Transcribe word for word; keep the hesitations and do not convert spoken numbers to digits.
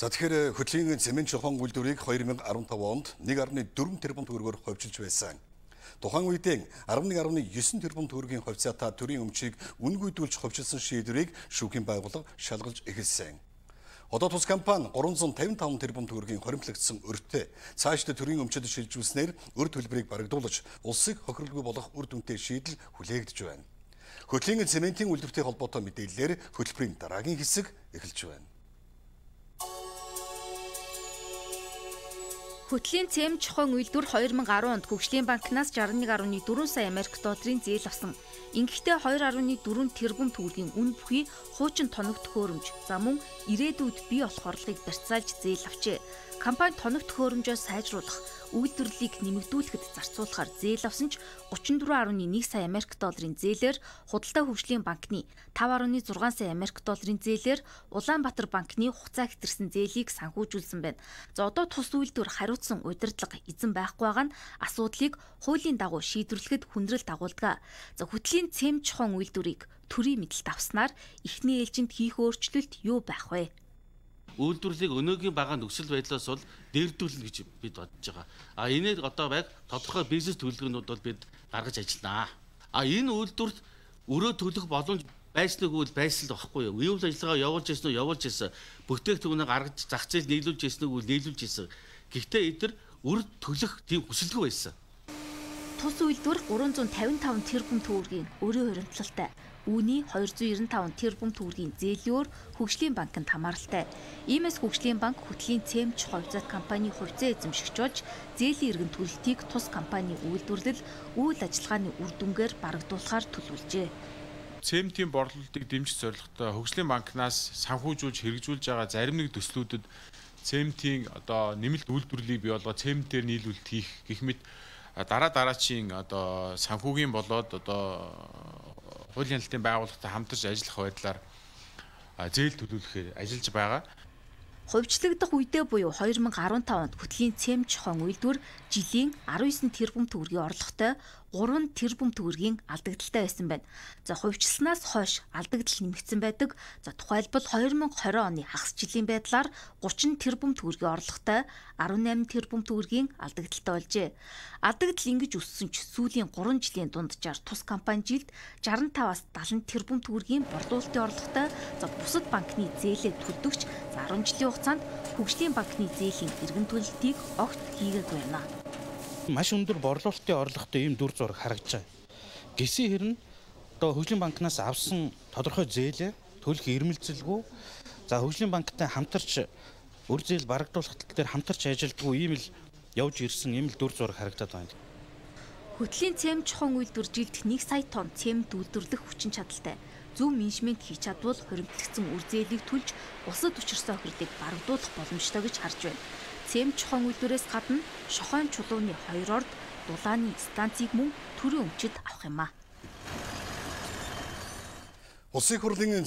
За тэгэхээр хөтлийн цемент чухал үйлдвэрийг две тысячи пятнадцать онд one point four тэрбум төгрөгөөр ховжилж байсан. Тухайн үедээ eleven point nine тэрбум төгрөгийн хувьцаатай төрийн өмчийг үнгүйдүүлж ховжилсан шийдвэрийг шүүхийн байгууллага шалгалж эхэлсэн. Одоо тус компани three hundred fifty-five тэрбум төгрөгийн хоримтлагдсан өртөө цаашдаа төрийн өмчөд шилжүүлснээр өр төлбөрийг барагдуулж улсыг хохирлгүй болох үр дүнтэй шийдэл хүлээгдэж байна. Хөтлийн цементийн үйлдвэртэй холбоотой мэдээллээр хөтөлбөрийн дараагийн хэсэг эхэлж байна. Хөтлийн цемент чухал үйлдвэр two thousand ten онд Хөгжлийн банкнаас sixty-one point four сая Америк долларын зээл авсан. Ингэхдээ two point four тэрбум төгрөгийн үн бүхий хуучин тоног төхөөрөмж за мөн ирээдүйд бий болох орлогыг барьцаалж зээл авчээ. Компани тоног төхөөрөмжөө сайжруулах, үйлдвэрлэлийг нэмэгдүүлэхэд зарцуулахаар зээл авсан ч thirty-four point one сая Америк долларын зээлээр Худалдаа хөгжлийн банкны five point six сая Америк долларын зээлээр Улаанбаатар банкны хугацаа хэтэрсэн зээлийг санхүүжүүлсэн байна. За одоо тус үйлдвэр хариуцсан удирдлага эзэн байхгүй байгаа нь асуудлыг хуулийн дагуу шийдвэрлэхэд хүндрэл дагуулдаг. За хөтлийн цемент чухал үйлдвэрийг төрийн мэдэлд авснаар эхний ээлжинд хийх өөрчлөлт юу байх вэ? Үйлдвэрлэлийг өнөөгийн бага нөхцөл байдлаас бол дээрдүүлнэ гэж бид бодож байгаа. А энэд одоо яг тодорхой бизнес төлөвлөгөөнүүд бол бид гаргаж ажилланаа. А энэ үйлдвэрт өрөө төлөх боломж байсан уу байсан л байхгүй юу? Үйл ажиллагаа явуулж ирсэн үү? Явуулж ирсэн. Бүтээгдэхүүнээ гаргаж зах зээл нийлүүлж ирсэн үү? Нийлүүлж ирсэн. Гэхдээ эдгээр үр төлөх тийм хүсэлгүй байсан. Тус үйлдвэр three hundred fifty-five тэрбум төгрөгийн өрөө хуримтлалтай. Үүний two hundred ninety-five тэрбум төгрөгийн зээлөөр Хөгжлийн банкнд хамааралтай. Иймээс Хөгжлийн банк хөтлийн цемент хувьцаат компани хувьцаа эзэмшигч болж зээлийн эргэн төлөлтийг тус компани үйлдвэрлэл үйл ажиллагааны үр дүнгээр барагдуулахаар төлөвлөжээ. Цементийн борлуулалтыг дэмжих зорилготой Хөгжлийн банкнаас санхүүжүүлж хэрэгжүүлж байгаа зарим нэг төслүүдэд цементийн одоо нэмэлт үйлдвэрлэлийг бий болгоод цементээр нийлүүлэлт хийх гэх мэт дараа дараачийн одоо санхүүгийн болоод одоо хуулийн хяналтын байгууллагатай хамтарч ажиллах байдлаар зээл төлөвлөхөөр ажиллаж байгаа. Хувьчлагдах үедээ буюу two thousand fifteen онд хөтлийн цемент чухал үйлдвэр жилийн nineteen тэрбум төгрөгийн орлоготой three тэрбум төгрөгийн алдагдaltaй байсан байна. За хувьчилснаас хойш алдагдал нэмэгдсэн байдаг. За тухайлбал two thousand twenty оны хагас жилийн байдлаар thirty тэрбум төгрөгийн орлоготой eighteen тэрбум төгрөгийн алдагдaltaй болжээ. Алдагдал ингэж өссөн ч сүүлийн three жилийн дунджаар тус компани жилд sixty-five-аас seventy тэрбум төгрөгийн борлуулалтын орлоготой за бусад банкны зээлээ төлдөгч за ten жилийн хугацаанд Хөгжлийн банкны зээлийн эргэн төлөлтийг огт хийгээгүй байна. Маш өндөр борлуулалтын орлоготой ийм дүр зураг харагдаж байгаа. Гисэн хэрнээ одоо Хөгжлийн банкнаас авсан тодорхой зээлээ төлөх ирмэлцэлгүй за Хөгжлийн банктай хамтарч үр зээл барагдуулах тал дээр хамтарч ажилладаггүй ийм л явж ирсэн ийм л дүр зураг харагдаад байна. Хөтлийн цемент чухал үйлдвэр жилд one сая тонн цемент үйлдвэрлэх хүчин чадалтай. Зөв менежмент хийж чадвал хоримтлагдсан үр зээлийг төлж улсад учирсан охирлыг барагдуулах боломжтой гэж харж байна. Цемент чухал үйлдвэрээс гадна шохойн чулууны хоёр орд дулааны станцыг мөн төрийн өмчөд авах юм а. Улсын хурлын